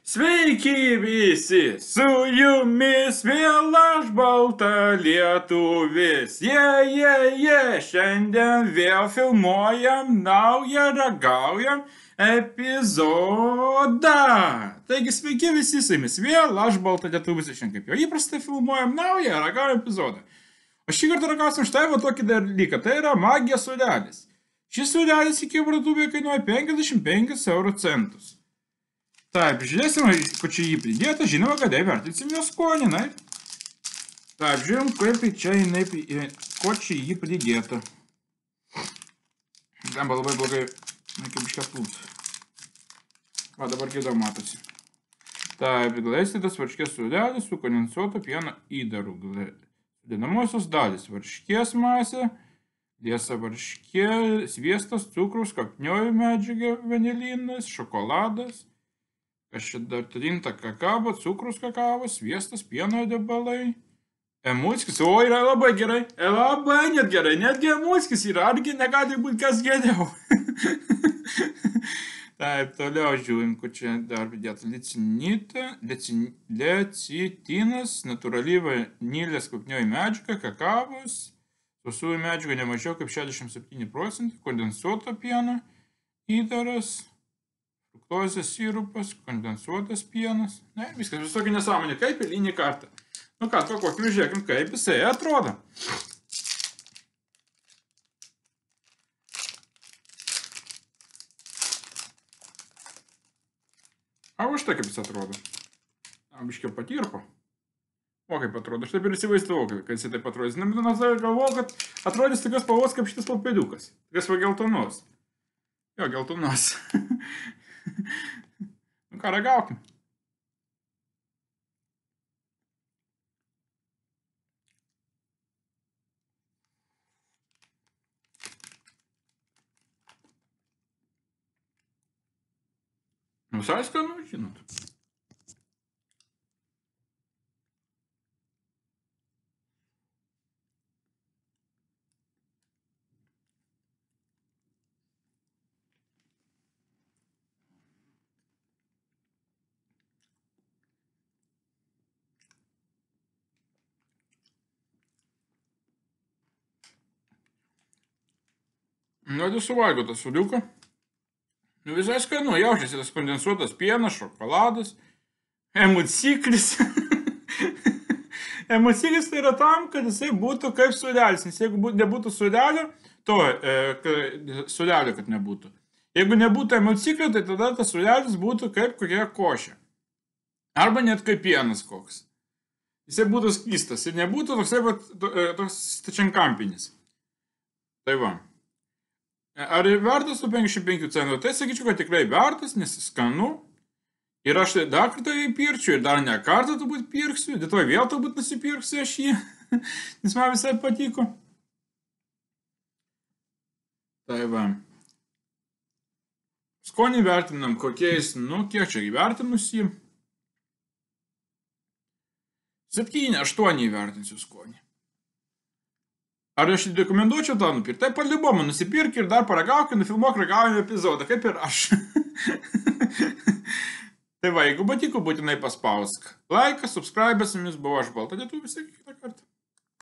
Sveiki visi, su jumis vėl aš balta lietuvis. Šiandien vėl filmuojam naują ragaujam epizodą. Taigi sveiki visi, su jumis vėl aš balta lietuvis. Šiandien kaip jau įprastai filmuojam naują ragaujam epizodą. O šį kartą ragausim štai va tokį dalyką, tai yra magijos suodelis. Šis suodelis iki parduotuvėje kainuoja 55 euro centus. Taip, žiūrėsime, ko čia jį pridėta, žinoma, kad įvertinsim jo skonį, na. Taip, žiūrėjom, kaip čia jinai, ko čia jį pridėta. Gamba labai blogai, kaip iškas plūs. Va, dabar gėda matosi. Taip, glaistytas varškės suodelis su kondensuoto pieno įdaru. Sudedamosios dalys, varškės masė, liesa varškė, sviestas, cukrus, kvapnioji medžiaga, vanilinas, šokoladas. Kas čia dar trinta kakava, cukrus kakavos, sviestas, pieno debalai. Emulskis, o yra labai gerai, labai net gerai, netgi emulskis yra, argi negali būti kas geriau. Taip, toliau žiūrim, kur čia dar pridėta lecitinas, natūrali vanilės kvapnioji medžiaga, kakavos, sausųjų medžiagų nemažiau kaip 67%, kondensuoto pieno, įdaras, fruktozės sirupas, kondensuotas pienas. Ne, viskas visokia nesąmonė, kaip eilinį kartą. Nu ką, kokį žiūrėkim, kaip jisai atrodo. O štai kaip jis atrodo. Biškiau patirpo. O kaip atrodo, aš taip ir įsivaizdavau, kad jisai taip atrodys. Nebūtinai galvojau, kad atrodys tokios spalvos kaip šitas papėdukas. Tokios va geltonos. Jo, geltonos. Nu ką, ragaukim. Visai skanu, žinot. Nu, tai suvalgiau tą sūriuką. Nu, visai skanu, jaučiasi tas kondensuotas pienas, šokoladas, emulsiklis. Emulsiklis tai yra tam, kad jisai būtų kaip sūdelis, nes jeigu nebūtų sūdelio, sūdelio, kad nebūtų. Jeigu nebūtų emulsiklio, tai tada tas sūdelis būtų kaip kokia košė. Arba net kaip pienas koks. Jisai būtų skystas ir nebūtų toks stačiankampinis. Tai va. Ar vertas tų 55 centų? Tai sakyčiau, kad tikrai vertas, nes skanu. Ir aš dar kartą jį pirkčiau ir dar ne kartą turbūt pirksiu. Dėtoj vėl turbūt nusipirksiu aš jį, nes man visai patiko. Tai va. Skonį vertinam kokiais, nu kiek čia įvertinus jį. 7-8 įvertinsiu skonį. Ar aš rekomenduočiau tą nupirkti? Tai palibomą nusipirk ir dar paragauk ir nufilmuok ragaujamą epizodą, kaip ir aš. Tai va, jeigu patiko, būtinai paspausk laiką, subscribe, su jumis buvo aš balta lietuvis, iki kitą kartą.